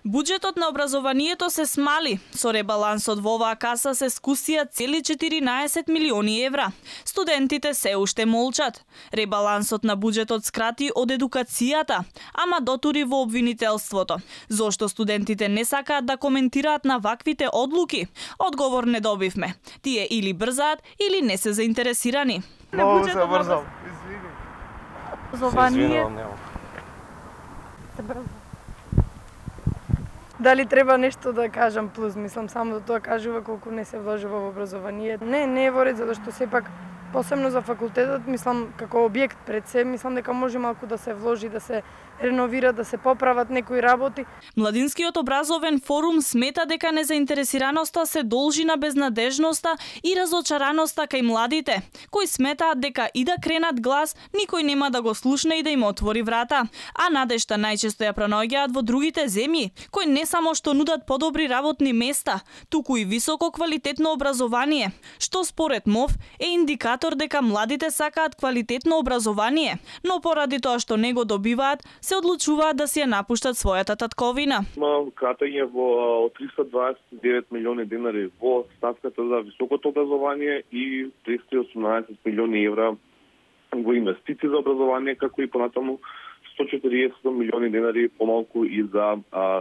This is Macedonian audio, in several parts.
Буџетот на образованието се смали. Со ребалансот во оваа каса се скусија цели 14 милиони евра. Студентите се уште молчат. Ребалансот на буџетот скрати од едукацијата, ама дотури во обвинителството. Зошто студентите не сакаат да коментираат на ваквите одлуки? Одговор не добивме. Тие или брзаат, или не се заинтересирани. Много се брзам, извини. Образование се брза. Дали треба нешто да кажам плюс, мислам само да тоа кажува колку не се вложува во образование. Не е во ред, затоа што сепак посебно за факултетот, мислам како објект пред се, мислам дека може малку да се вложи, да се реновира, да се поправат некои работи. Младинскиот образовен форум смета дека незаинтересираноста се должи на безнадежноста и разочараноста кај младите, кои сметаат дека и да кренат глас, никој нема да го слушне и да им отвори врата. А надежта најчесто ја пронаоѓаат во другите земји, кои не само што нудат подобри работни места, туку и високо квалитетно образование, што според МОВ е индикатор дека младите сакаат квалитетно образование, но поради тоа што не го добиваат, се одлучуваат да си ја напуштат својата татковина. Има кратење во 329 милиони денари во ставката за високото образование и 318 милиони евра во инвестиции за образование, како и понатаму 140 милиони денари помалку и за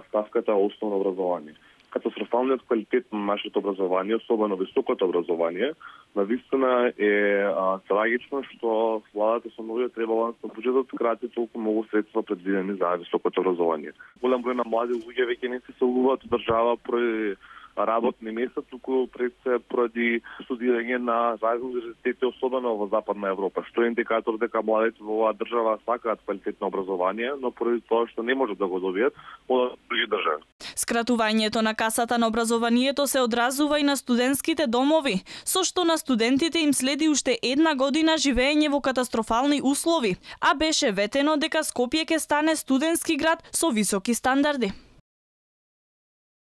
ставката основно образование. Катастрофалниот квалитет на нашето образование, особено високото образование, навистина е трагично што владата со новиот ребаланс на буџетот крати толку многу средства предвидени за високото образование. Голем број на млади луѓе веќе не се селуваат од држава поради работни места, туку пред се поради студирање на разни универзитети, особено во Западна Европа, што е индикатор дека младите во оваа држава сакаат квалитетно образование, но поради тоа што не можат да го добијат, одат во други држави. Скратувањето на касата на образованието се одразува и на студентските домови, со што на студентите им следи уште една година живеење во катастрофални услови, а беше ветено дека Скопје ќе стане студентски град со високи стандарди.